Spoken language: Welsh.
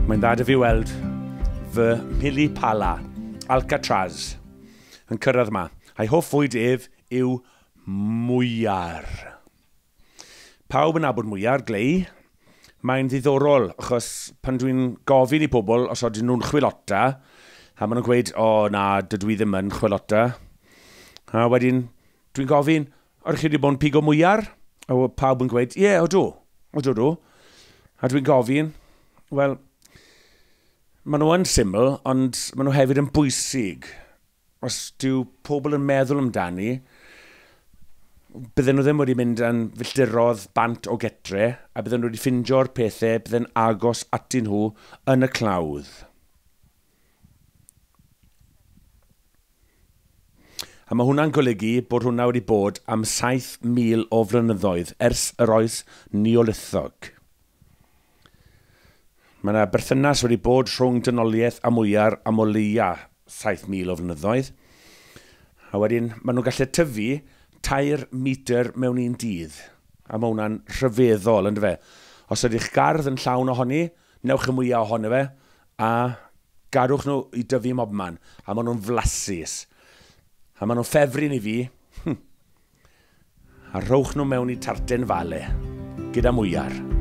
Mae'n dda 'da fi weld fy Mhili Pala, Alcatraz, yn cyrraedd yma. A'i hoff fwyd ef yw mwyar. Pawb yn nabod mwyar, glei. Mae'n ddiddorol, achos pan dwi'n gofyn i pobl os ydyn nhw'n chwilota, a maen nhw'n gweud, o na, dydw i ddim yn chwilota. A wedyn, dwi'n gofyn, oeddech chi wedi bod yn pigo mwyar? A pawb yn gweud, ie, yeah, odw, odw, odw. A dwi'n gofyn, wel, maen nhw yn syml, ond maen nhw hefyd yn bwysig. Os dyw pobl yn meddwl amdani, bydden nhw ddim wedi mynd yn filltirodd bant o getre, a bydden nhw wedi ffindio'r pethau bydden agos atyn nhw yn y clawdd. A mae hwnna'n golygu bod hwnna wedi bod am 7,000 o flynyddoedd ers yr oes Neolithog. Mae yna berthynas wedi bod rhwng dynoliaeth a mwyar am o leia 7,000 o flynyddoedd. A wedyn, maen nhw'n gallu tyfu 3 metr mewn un dydd. A mae hwnna'n rhyfeddol, ynddo fe? Os ydych gardd yn llawn ohoni, newch y mwyaf ohono fe, a gadwch nhw i dyfu mobman. A maen nhw'n flasus. A maen nhw'n ffefryn i fi. A rhowch nhw mewn i tarten fale, gyda mwyar.